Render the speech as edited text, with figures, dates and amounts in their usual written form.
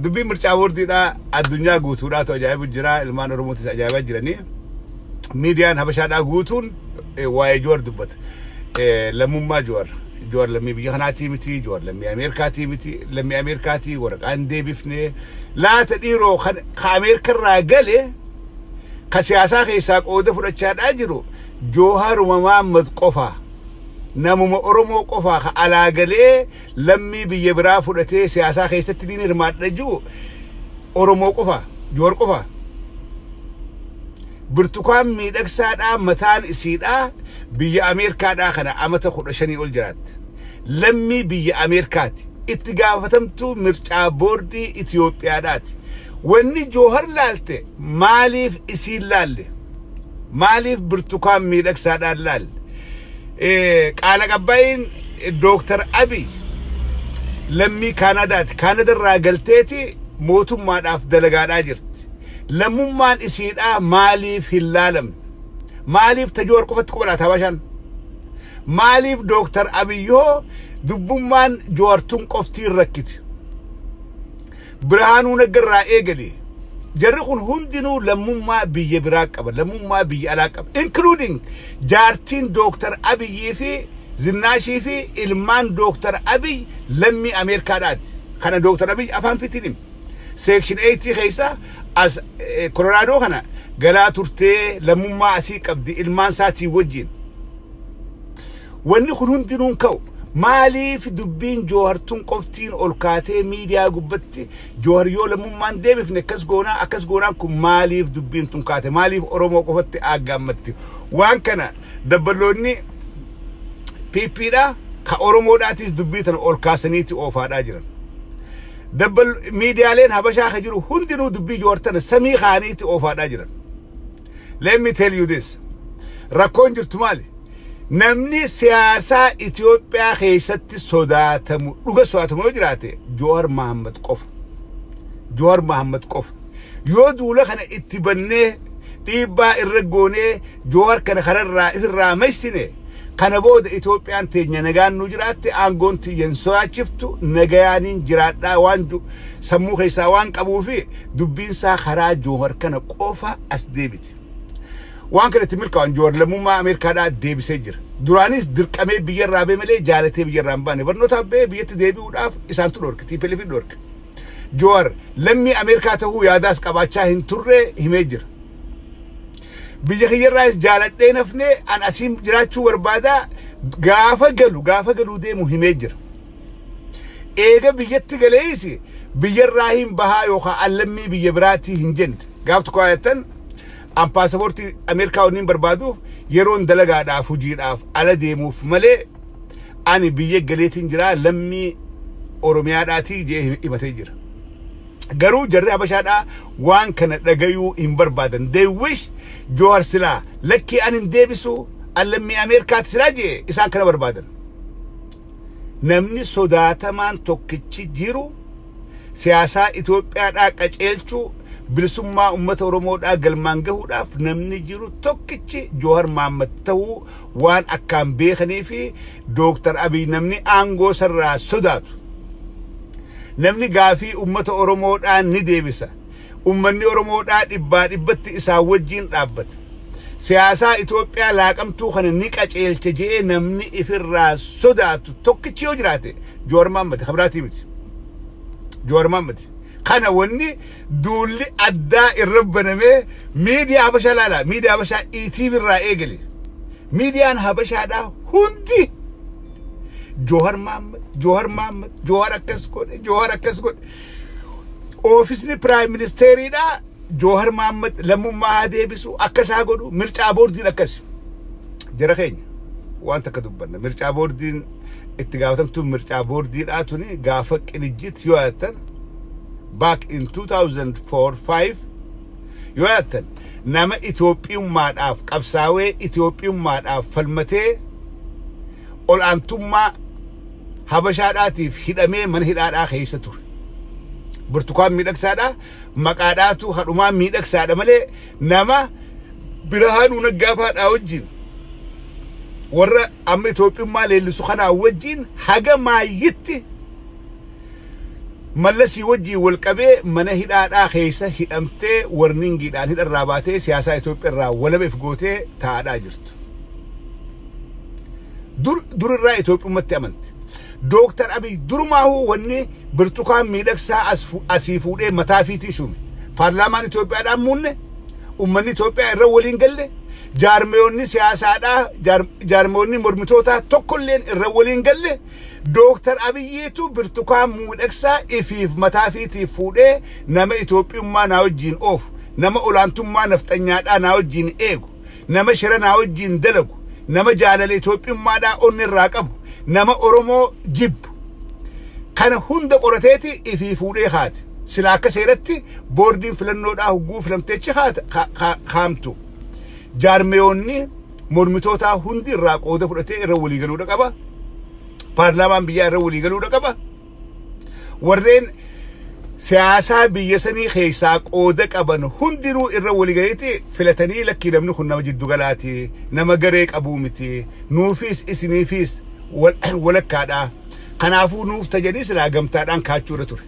Dubbiin mircaa boordiidhaa addunyaa guutuudhaatu ajaa'ibu jira. Ilmaan Oromootis ajaa'ibaa jiranii. Miidiyaan Habashaadhaa guutuun waa'ee Joowar dubbata. Lammummaa Joowar. Joowar lammii biyya kanaatii miti, Joowar lammii Ameerikaatii miti, lammii Ameerikaatii waraqaan deebifne. Laata dhiiroo ka Ameerikarraa gale ka siyaasaa keessaa qooda fudhachaadhaa jiru Jooharuma Mahammad qofa. Namuma Oromoo qofa ka alaa galee lammii biyya biraa fudhatee siyaasaa keessatti ni hirmaadha jiru Oromoo qofa, Joowar qofa. Birtukaan Miidhagsaadhaa mataan isiidhaa biyya Ameerikaadhaa kana amata 15 ol jiraatte. Lammii biyya Ameerikaati. Itti gaafatamtuu mircaa boordii Itoophiyaadhaati. Wanni Joohar laalte maaliif isiin laalle? Maaliif Birtukaan Miidhagsaadhaan laalle? Qaala qabba'iin Dooktar Abiy lammii Kaanadaati. Kaanadarraa galteeti mootummaadhaaf dalagaadhaa jirti. Lammummaan isiidhaa maaliif hin laalamne? Maaliif ta Joowar qofatti quba laata Habashaan? Maaliif Dooktar Abiyyoo dubbummaan Joowartuun qoftiin rakkiti? Birhaanuu Naggarraa eegali. Jarri kun hundinuu lammummaa biyya biraa qaba. Lammummaa biyya alaa qaba. Including jaartiin Dooktar Abiyyii fi Zinnaashii fi ilmaan Dooktar Abiy lammii Ameerikaadhaati. Kana Dooktar Abiy afaan fitiin hima. Section 8 keessa as Koloraadoo kana galaa turtee lammummaa asii qabdi ilmaan isaatii wajjin. Wanni kun hundinuun ka'u maaliif dubbiin Joohartuun qoftiin ol kaatee miidiyaa gubbatti Joohar yoo lammummaan deebifne akkas goonaa akkas goonaan kun maaliif dubbiin tun kaate? Maaliif Oromoo qofatti aggaammatti? Waan kana dabballoonni PPdha ka Oromoodhaatis dubbii tana ol kaasaniiti oofaadhaa jiran. Dabbal miidiyaaleen Habashaa ka jiru hundinuu dubbii Joohar tana samii kaaniiti oofaadhaa jiran. Let me tell you this. Rakkoon jirtu maali? Namni siyaasaa Itoophiyaa keessatti sodaatamu, dhuga sodaatamu yoo jiraate Joowar Mahammad qofa. Joowar Mahammad qofa. Yoo duula kana itti bannee dhiibbaa irra goonee Joowar kana kanarraa ifirraa maysine, kana booda Itoophiyaan teenya nagaan nu jiraatte, aangoon tiyya hin sodaachiftu, nagayaaniin jiraadhaa waan sammuu keessaa waan qabuu fi dubbiin isaa karaa Joowar kana qofa as deebiti. Waan kana itti milkaa'an Joowar lammummaa Ameerikaadhaa deebisee jira. Duraanis dirqamee biyyarraa ba'e malee jaalatee biyyarraa hin baane. Barnootaaf ba'ee biyyatti deebi'uudhaaf isaantu dhorke. TPLF dhorke. Joowar lammii Ameerikaa ta'uu yaadaas qabaachaa hin turre himee jira. Biyya kiyyarraas jaaladhee nafnee an asiin jiraachuu barbaadaa gaafa galuu deemu himee jira. Eega biyyatti galees biyyarraa hin bahaa yookaan lammii biyya biraatii hin jenne. Gaaf tokko ayattan an paasapoortii Ameerikaa wanniin barbaaduuf yeroon dalagaadhaaf hojiidhaaf ala deemuuf malee ani biyya galeetiin jira lammii Oromiyaadhaatii jee himatee jira. Garuu jarri Habashaadhaa waan kana dhagayuu hin barbaadan. They wish Joohar silaa lakkii an hin deebisu an lammii Ameerikaati silaa jee isaan kana barbaadan. Namni sodaatamaan tokkichi jiru siyaasaa Itoophiyaadhaa qaceelchuu, bilisummaa uummata Oromoodhaa galmaan gahuudhaaf namni jiru tokkichi Joohar Mahammad ta'uu waan akkaan beekanii fi Dooktar Abiy namni aangoo sarraa sodaatu. Namni gaafii uummata Oromoodhaa ni deebisa. Uummanni Oromoodhaa dhibbaa dhibbatti isaa wajjin dhaabbata. Siyaasaa Itoophiyaa laaqamtuu kana ni qaceelcha je'ee namni ifirraa sodaatu tokkichi yoo jiraate Joowar Mahammad kabiraatii miti. Joowar Mahammad. Kana wanni duulli addaa irra banamee miidiyaa Habashaa laala. Miidiyaa Habashaa ETV irraa eegale. Miidiyaan Habashaadhaa hundi Joohar Mahammad, Joohar Mahammad, Joohar akkas godhe, Joohar akkas godhe. Oofisni Prime Ministeeriidhaa Joohar Mahammad lammummaa haa deebisu, akkas haa godhu, mircaa boordiin akkas. Jara keenya waan takka dubbanna. Mircaa boordiin itti gaafatamtuun mircaa boordiidhaa tuni gaafa Qinijjit yoo yaadatan back in 2004-5 yoo yaadatan nama Itoophiyummaadhaaf qabsaawee Itoophiyummaadhaaf falmatee ol'aantummaa Habashaadhaatiif hidhamee mana hidhaadhaa keessa ture. Burtukaan Miidhagsaadhaa maqaadhaatu hadhumaa miidhagsaadha malee nama Birhaanuu Naggaafaadhaa wajjin warra amma Itoophiyummaa leellisu kanaa wajjin haga maayyitti Mallasii wajjin wal qabee mana hidhaadhaa keessa hidhamtee warningiidhaan hidharraa baatee siyaasaa Itoophiyaa irraa walaba if gootee taa'aadhaa jirtu. Durirraa Itoophiyummatti amante. Dooktar Abiy durumaahuu wanni Birtukaan Miidhagsaa asii fuudhee mataa fiitiin shuume. Paarlaamaan Itoophiyaadhaan muunne, uummanni Itoophiyaa irra waliin galle, jaarmeewonni siyaasaadhaa, jaarmeewonni mormitootaa tokkolleen irra waliin galle. Dooktar Abiyyiitu Birtukaan Miidhagsaa ifiif mataa fiitiif fuudhee nama Itoophiyummaa naa wajjin oofu, nama olaantummaa nafxanyaadhaa naa wajjin eegu, nama shira naa wajjin dalagu, nama jaalala Itoophiyummaadhaa onni irraa qabu, nama Oromoo jibbu. Kana hunda qorateeti ifii fuudhee haate. Sila akka seeratti boordiin filannoodhaa hugguu filamteechi haamtu. Jaarmeewonni mormitootaa hundi irraa qooda fudhatee irra walii galuudha qaba. Paarlaamaan biyyaa irra walii galuudha qaba. Warreen siyaasaa biyya sanii keessaa qooda qaban hundinuu irra walii galeeti filatanii, lakkii, namni kun nama jiddu galaati, nama garee qabuu miti, nuufis isiniifis walakkaadha. Kanaafuu nuuf tajanii silaa gamtaadhaan kaachuudha ture.